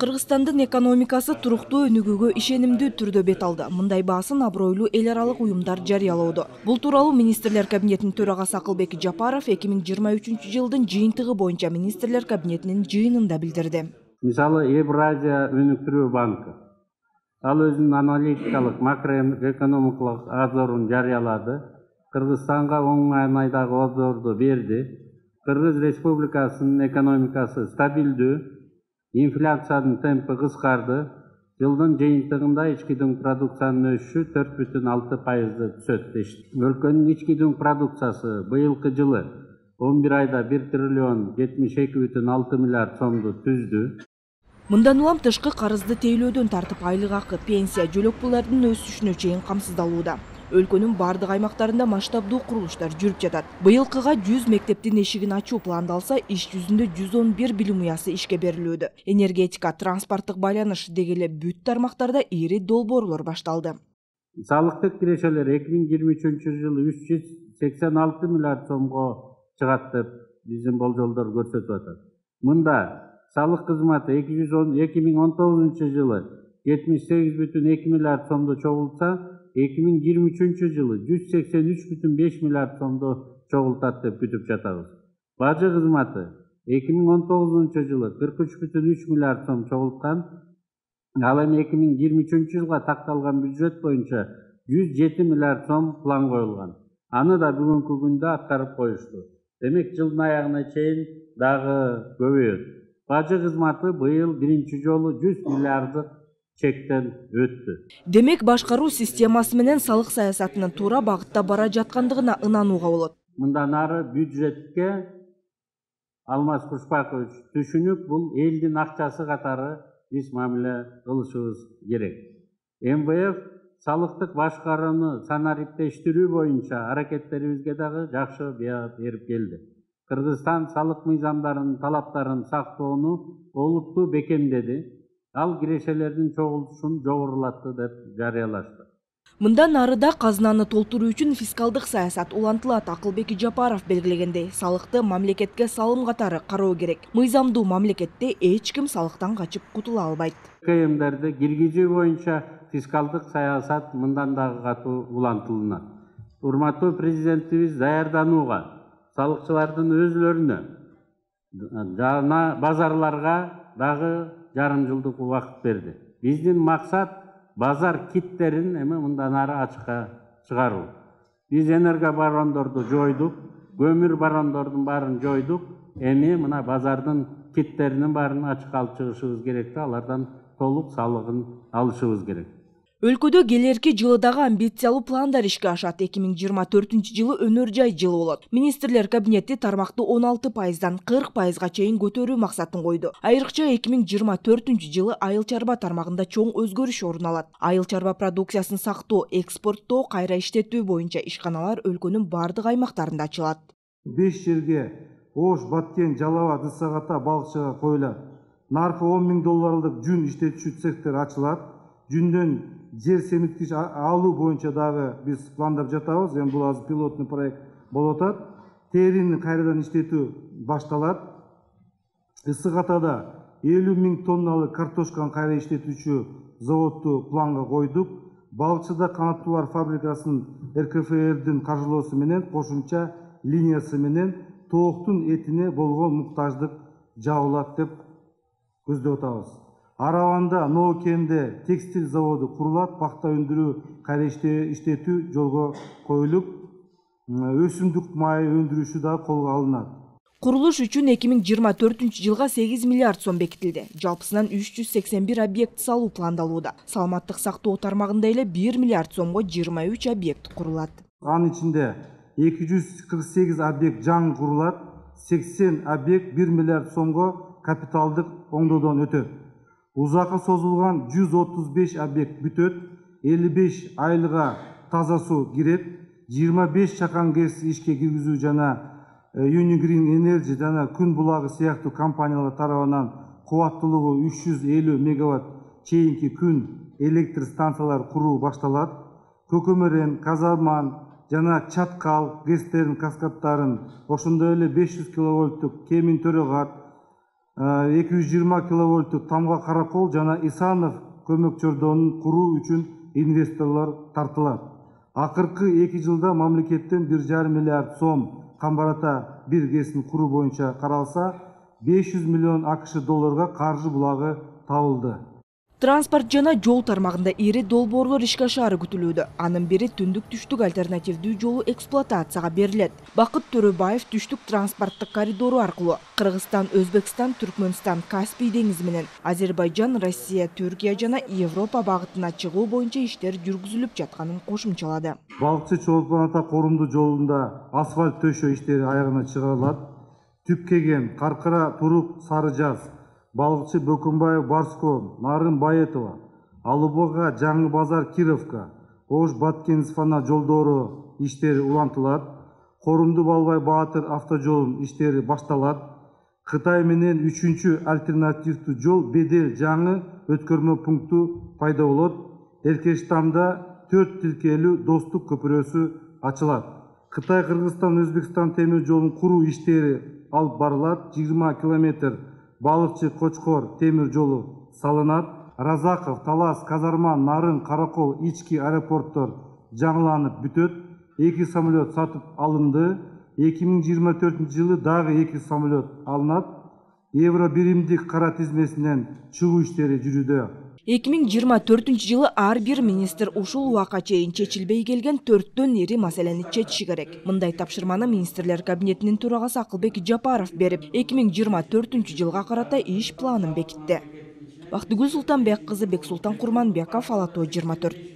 Кыргызстандын экономикасы туруктуу өнүгүүгө ишенимдүү түрдө бет алды. Мындай баасын абройлуу эл аралык уюмдар жарыялоодо. Бул тууралуу Министрлер кабинетинин төрагасы Акылбек Жапаров 2023 жылдын жыйынтыгы боюнча Министрлер кабинетинин жыйынында билдирди. Мисалы, Евразия өнүктүрүү банкы ал өзүнүн аналитикалык макроэкономикалык обзорун жарыялады. Кыргызстанга оң маанайдагы обзорду берди. Кыргыз Республикасынын экономикасы стабилдүү, инфляциянын темпи кыскарды. Жылдын жыйынтыгында ички дүң продукциянын өсүшү 4,6%ды түзөт дешти. Өлкөнүн ички дүң продукциясы быйылкы жылы 11 айда 1 триллион 72,6 миллиард сомду түздү. Мындан улам тышкы карызды тейлөөдөн тартып айлык акы, пенсия, жөлөк пуллардын өсүшүнө чейин камсыздалууда. Өлкөнүн бардык аймактарында масштабдуу курулуштар жүрүп жатат. Быйылкыга 100 мектептин эшигин ачуу пландалса, иш жүзүндө 111 билим уясы ишке берилүүдө. Энергетика, транспорттук байланыш деги эле бүт тармактарда ири долбоорлор башталды. Салыктык кирешелер 2023 жылы 386 миллиард сомго чыгат деп биздин болжолдор көрсөтүп атат. Мында салык кызматы 2019 жылы 78,2 миллиард сомду чогултса, 2023 жылы 183,5 миллиард сомду чогултат деп күтүп жатабыз. Бажы кызматы 2019 жылы 43,3 миллиард сом чогулткан. Ал эми 2023 жылга такталган бюджет боюнча 107 миллиард сом план коюлган. Аны да бүгүнкү күндө аткарып коюшту. Демек жылдын аягына чейин дагы көбөйөт. Бажы кызматы быйыл биринчи жолу 100 миллиарддык чектен өттү. Демек башкаруу системасы менен салык саясатынын туура багытта бара жаткандыгына ынанууга болот. Мындан ары бюджетке Алмаз Кушпакович түшүнүп, бул элдин акчасы катары биз мамиле кылышыбыз керек. МВФ салыктык башкарууну санариптештирүү боюнча аракеттерибизге дагы жакшы баа берип келди. Кыргызстан салык мыйзамдарынын талаптарын сактоону олуттуу бекемдеди. Ал кирешелердин чогултушун жогорулатты деп жарыялашты. Мындан ары да казынаны толтуруу үчүн фискалдык саясат улантылат. Акылбек Жапаров белгилегендей, салыкты мамлекетке салым катары кароо керек. Мыйзамдуу мамлекетте эч ким салыктан качып кутула албайт. КМдерди киргизүү боюнча фискалдык саясат мындан дагы катуу улантылат. Урматтуу президентибиз даярданууга, салыкчылардын өзлөрүнө жана базарларга дагы жарым жылдык убакыт берди. Биздин максат базар киттерин эми мындан ары ачыкка чыгаруу. Биз энергобарондорду жойдук, көмүр барондордун баарын жойдук. Эми мына базардын киттеринин баарын ачыкка алып чыгышыбыз керек, алардан толук салыгын алышыбыз керек. Өлкөдө келерки жылы дагы амбициялуу пландар ишке ашат. 2024 жылы өнөр жай жылы болот. Министрлер кабинети тармакты 16%дан 40%га чейин көтөрүү максатын койду. Айрыкча 2024 жылы айыл чарба тармагында чоң өзгөрүш орун алат. Айыл чарба продукциясын сактоо, экспорттоо, кайра иштетүү боюнча ишканалар өлкөнүн бардык аймактарында ачылат. 5 жерге Ош, Баткен, Жалал абад, Ысык-Ата, Балыкчыга коюлат. Наркы $10,000 жүн иштетүүчү цехтер ачылат. Жүндөн жер семиткич алуу боюнча дагы биз пландап жатабыз. Эми бул азыр пилоттук проект болуп атат. Терини кайрадан иштетүү башталат. Ысык-Атада 50,000 тонналык картошканы кайра иштетүүчү заводду планга койдук. Балыкчыда канаттуулар фабрикасынын РКФРдин каржылоосу менен кошумча линиясы менен тооктун этине болгон муктаждык жабылат деп көздөп атабыз. Араванда, Ноокенде текстиль заводу курулат, пахта өндүрүү, кайра иштетүү жолго коюлуп, өсүмдүк майы өндүрүшү да колго алынат. Курулуш үчүн 2024 жылга 8 миллиард сом бекитилди. Жалпысынан 381 объект салуу пландалууда. Саламаттык сактоо тармагында эле 1 миллиард сомго 23 объект курулат. Анын ичинде 248 объект жаңы курулат, 80 объект 1 миллиард сомго капиталдык оңдоодон өтөт. Узакка созулган 135 объект бүтөт, 55 айылга таза суу кирет, 25 чакан ГЭС ишке киргизүү жана Unigrin Energy жана Күн булагы сыяктуу компаниялар тарабынан кубаттуулугу 350 мегаватт чейинки күн электр станциялары куруу башталат. Көкөмөрен, Казарман жана Чаткал ГЭСтердин каскадтарын, ошондой эле 500 киловольттук Кемин Төрөгат, 220 киловольттук Тамга Каракол жана Исанов көмөк чордонун куруу үчүн инвесторлор тартылат. Акыркы 2 жылда мамлекеттен 1,5 миллиард сом камбарата бир КЭСин куруу боюнча каралса, 500 миллион АКШ долларга каржы булагы табылды. Транспорт жана жол тармагында ири долбоорлор ишке ашаары күтүлүүдө. Анын бири түндүк-түштүк альтернативдүү жолу эксплуатацияга берилет. Бакыт Төрөбаев түштүк транспорттук коридору аркылуу Кыргызстан, Өзбекстан, Түркмөнстан, Каспий деңизи менен Азербайжан, Россия, Түркия жана Европа багытына чыгуу боюнча иштер жүргүзүлүп жатканын кошумчалады. Балыкчы Чолпон Ата корумдуу жолунда асфальт төшөө иштери аягына чыгарылат. Түпкеген, Каркыра, Турук, Сары Жаз, Балыкчы Бөкөнбаев, Барско, Нарын Баетова, Алубага, Жаңы Базар, Кировка, Ош Баткен-Исфана жолдору иштери улантылат. Корумду Балбай Баатыр автожолунун иштери башталат. Кытай менен 3-чү альтернативдүү жол Бедел жаңы өткөрмө пункту пайда болот. Эркештамда 4 тилкелүү достук көпүрөсү ачылат. Кытай, Кыргызстан, Өзбекстан темир жолунун куруу иштери алып барылат. 20 километр Балыкчы Кочкор темир жолу салынат. Разаков, Талас, Казарман, Нарын, Каракол ички аэропорттор жаңыланып бүтөт. 2 самолет сатып алынды. 2024 жылы дагы 2 самолет алынат. Евро биримдик кара тизмесинен чыгуу иштери жүрүүдө. 2024 жылы ар бир министр ушул убакка чейин чечилбей келген 4төн ири маселени чечиши керек. Мындай тапшырманы министрлер кабинетинин төрагасы Акылбек Жапаров берип, 2024 жылга карата иш планын бекитти. Бактыгүл Султанбек кызы, Бексултан Курманбеков, Ала Тоо 24.